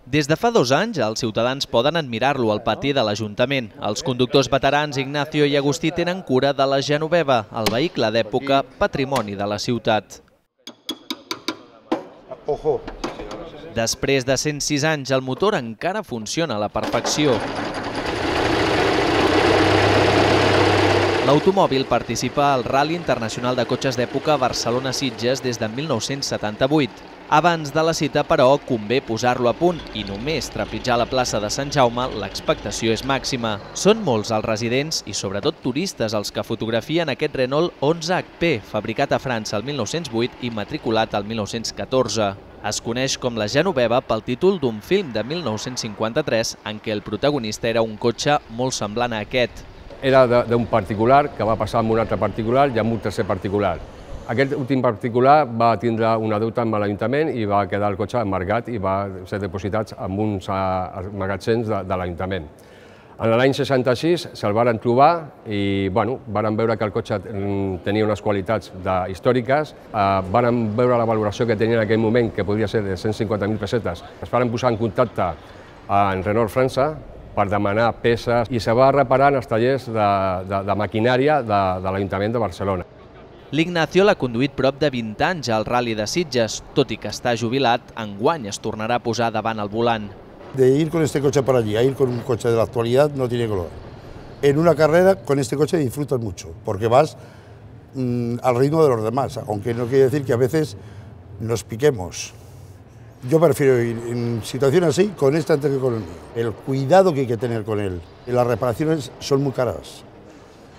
Des de fa 2 anys, els ciutadans poden admirar-lo al pati de l'Ajuntament. Els conductors veterans Ignacio i Agustí tenen cura de la Genoveva, el vehicle d'època patrimoni de la ciutat. Després de 106 anys, el motor encara funciona a la perfecció. L'automòbil participa al Rally Internacional de Cotxes d'Època Barcelona-Sitges des de 1978. Abans de la cita, però, convé posar-lo a punt i només trepitjar la plaça de Sant Jaume l'expectació és màxima. Són molts els residents i sobretot turistes els que fotografien aquest Renault 11HP, fabricat a França el 1908 i matriculat el 1914. Es coneix com la Genoveva pel títol d'un film de 1953 en què el protagonista era un cotxe molt semblant a aquest. Era d'un particular que va passar amb un altre particular i amb un tercer particular. Aquest últim particular va tindre una deuta amb l'Ajuntament i va quedar el cotxe embargat i va ser depositat en uns magatzems de l'Ajuntament. En l'any 66 se'l varen trobar i varen veure que el cotxe tenia unes qualitats històriques, varen veure la valoració que tenia en aquell moment, que podia ser de 150.000 pessetes. Es van posar en contacte amb Renault França per demanar peces i se va reparar en els tallers de maquinària de l'Ajuntament de Barcelona. L'Ignacio l'ha conduït prop de 20 anys al Rally de Sitges, tot i que està jubilat, enguany es tornarà a posar davant el volant. De ir con este coche para allí a ir con un coche de la actualidad no tiene color. En una carrera con este coche disfrutas mucho, porque vas al ritmo de los demás, aunque no quiere decir que a veces nos piquemos. Yo prefiero ir en situaciones así con este antes que con el mío. El cuidado que hay que tener con él. Las reparaciones son muy caras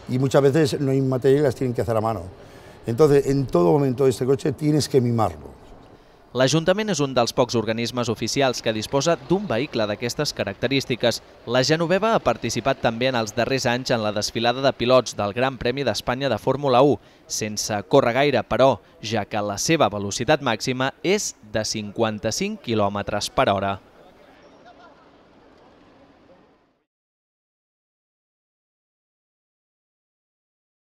y muchas veces no hay material y las tienen que hacer a mano. Entonces, en todo momento este coche tienes que mimarlo. L'Ajuntament és un dels pocs organismes oficials que disposa d'un vehicle d'aquestes característiques. La Genoveva ha participat també en els darrers anys en la desfilada de pilots del Gran Premi d'Espanya de Fórmula 1, sense córrer gaire, però, ja que la seva velocitat màxima és de 55 km/h.